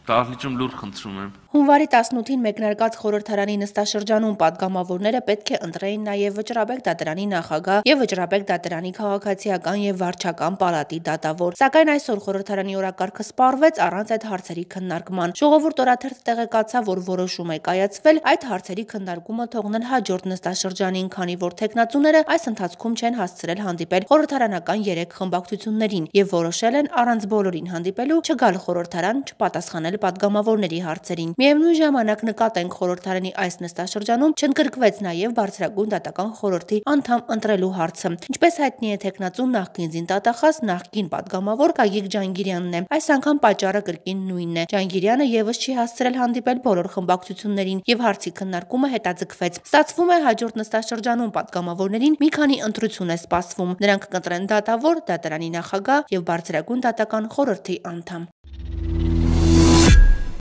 Դահլիճում լուր խնդրում եմ։ Հունվարի 18-ին մեկնարկած խորհրդարանի նստաշրջանում պատգամավորները պետք է ընտրեին նաև Վճռաբեկ դատարանի նախագահ եւ Վճռաբեկ դատարանի քաղաքացիական եւ վարչական պալատի դատավոր։ Սակայն այսօր խորհրդարանի օրակարգը սպառվեց առանց այդ հարցերի քննարկման։ Ժողովուրդ օրաթերթը տեղեկացավ, որ որոշում է կայացվել այդ հարցերի քննարկումը թողնել հաջորդ նստաշրջանին, քանի որ թեկնածուները այս ընթացքում չեն հասցրել հանդիպել խորհրդարանական 3 խմբակցություններին եւ որոշել են առանց բոլորին հանդիպելու չգալ խորհրդարան, չպատասխանել պատգամավորների հարցերին։ Միևնույն ժամանակ նկատենք խորհրդարանի այս նստաշրջանում չընդգրկվեց նաև բարձրագույն դատական խորհրդի անդամ ընտրելու հարցը։ Ինչպես հայտնի է, թեկնածուն նախկին զինտատախազ, նախկին պատգամավոր Գագիկ Ջանգիրյանն է։ Այս անգամ պատճառը կրկին նույնն է։ Ջանգիրյանը եւս չի հասցրել հանդիպել բոլոր խմբակցություններին եւ հարցի քննարկումը հետաձգվեց։ Ստացվում է, հաջորդ նստաշրջանում պատգամավորներին մի քանի ընտրություն է սպասվում։ Նրանք կընտրեն դատավոր, դատարանի նախագահ եւ բարձրագույն դատական խորհրդի անդամ։